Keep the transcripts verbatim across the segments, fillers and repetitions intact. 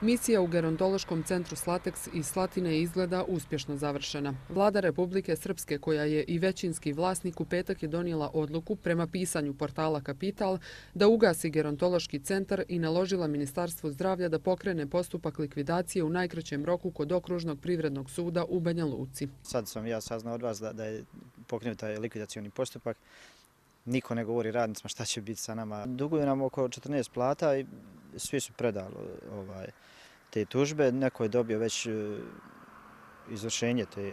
Misija u gerontološkom centru Slateks iz Slatine izgleda uspješno završena. Vlada Republike Srpske, koja je i većinski vlasnik, u petak je donijela odluku prema pisanju portala Kapital da ugasi gerontološki centar i naložila Ministarstvu zdravlja da pokrene postupak likvidacije u najkraćem roku kod Okružnog privrednog suda u Banja Luci. Sad sam ja saznao od vas da, da je pokrenut taj likvidacioni postupak. Niko ne govori radnicima šta će biti sa nama. Duguju nam oko četrnaest plata i svi su predali ovaj, te tužbe. Neko je dobio već izvršenje te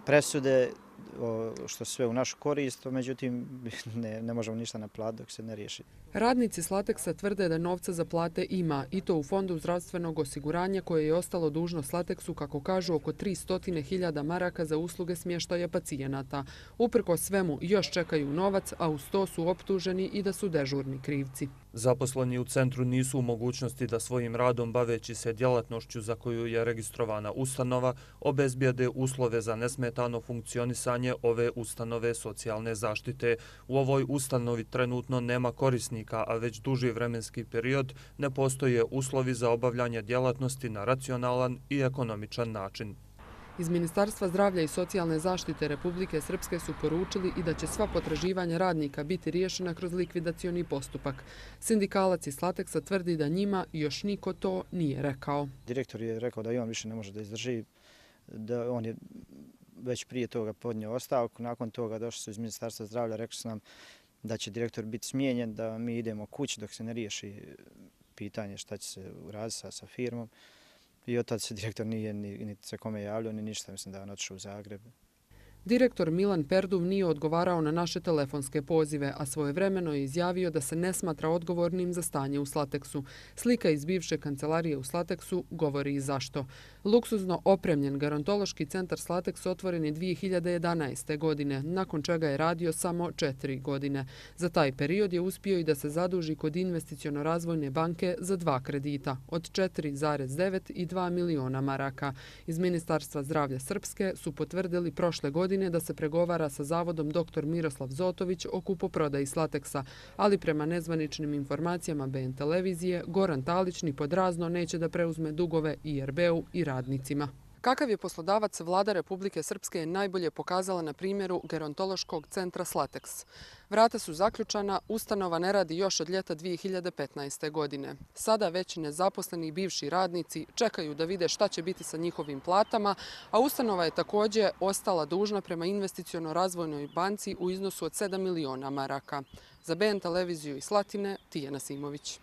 presude, što sve u našu korist, međutim ne, ne možemo ništa naplatiti dok se ne riješi. Radnici Slateksa tvrde da novca za plate ima, i to u Fondu zdravstvenog osiguranja koje je ostalo dužno Slateksu, kako kažu, oko tristo hiljada maraka za usluge smještaja pacijenata. Uprko svemu još čekaju novac, a uz to su optuženi i da su dežurni krivci. Zaposleni u centru nisu u mogućnosti da svojim radom, baveći se djelatnošću za koju je registrovana ustanova, obezbijede uslove za nesmetano funkcionisanje ove ustanove socijalne zaštite. U ovoj ustanovi trenutno nema korisnika, a već duži vremenski period ne postoje uslovi za obavljanje djelatnosti na racionalan i ekonomičan način. Iz Ministarstva zdravlja i socijalne zaštite Republike Srpske su poručili i da će sva potraživanja radnika biti riješena kroz likvidacioni postupak. Sindikalac iz Slateksa tvrdi da njima još niko to nije rekao. Direktor je rekao da i on više ne može da izdrži, da on je već prije toga podnio ostavku. Nakon toga došli su iz Ministarstva zdravlja, rekli su nam da će direktor biti smijenjen, da mi idemo kući dok se ne riješi pitanje šta će se uraditi sa, sa firmom. I od tada se direktor nije ni, ni se kome javljao, ni ništa. Mislim da je on otišao u Zagreb. Direktor Milan Perduv nije odgovarao na naše telefonske pozive, a svojevremeno je izjavio da se ne smatra odgovornim za stanje u Slateksu. Slika iz bivše kancelarije u Slateksu govori i zašto. Luksuzno opremljen gerontološki centar Slateks otvoren je dvije hiljade jedanaeste. godine, nakon čega je radio samo četiri godine. Za taj period je uspio i da se zaduži kod Investiciono-razvojne banke za dva kredita, od četiri zarez devet i dva miliona maraka. Iz Ministarstva zdravlja Srpske su potvrdili prošle godine da se pregovara sa zavodom doktor Miroslav Zotović o kupoprodaji Slateksa, ali prema nezvaničnim informacijama B N televizije, Goran Talić ni pod razno neće da preuzme dugove I R B-u i radnicima. Kakav je poslodavac, Vlada Republike Srpske je najbolje pokazala na primjeru gerontološkog centra Slateks. Vrata su zaključana, ustanova ne radi još od ljeta dvije hiljade petnaeste. godine. Sada već nezaposleni bivši radnici čekaju da vide šta će biti sa njihovim platama, a ustanova je također ostala dužna prema Investiciono-razvojnoj banci u iznosu od sedam miliona maraka. Za B N televiziju iz Slatine, Tijana Simović.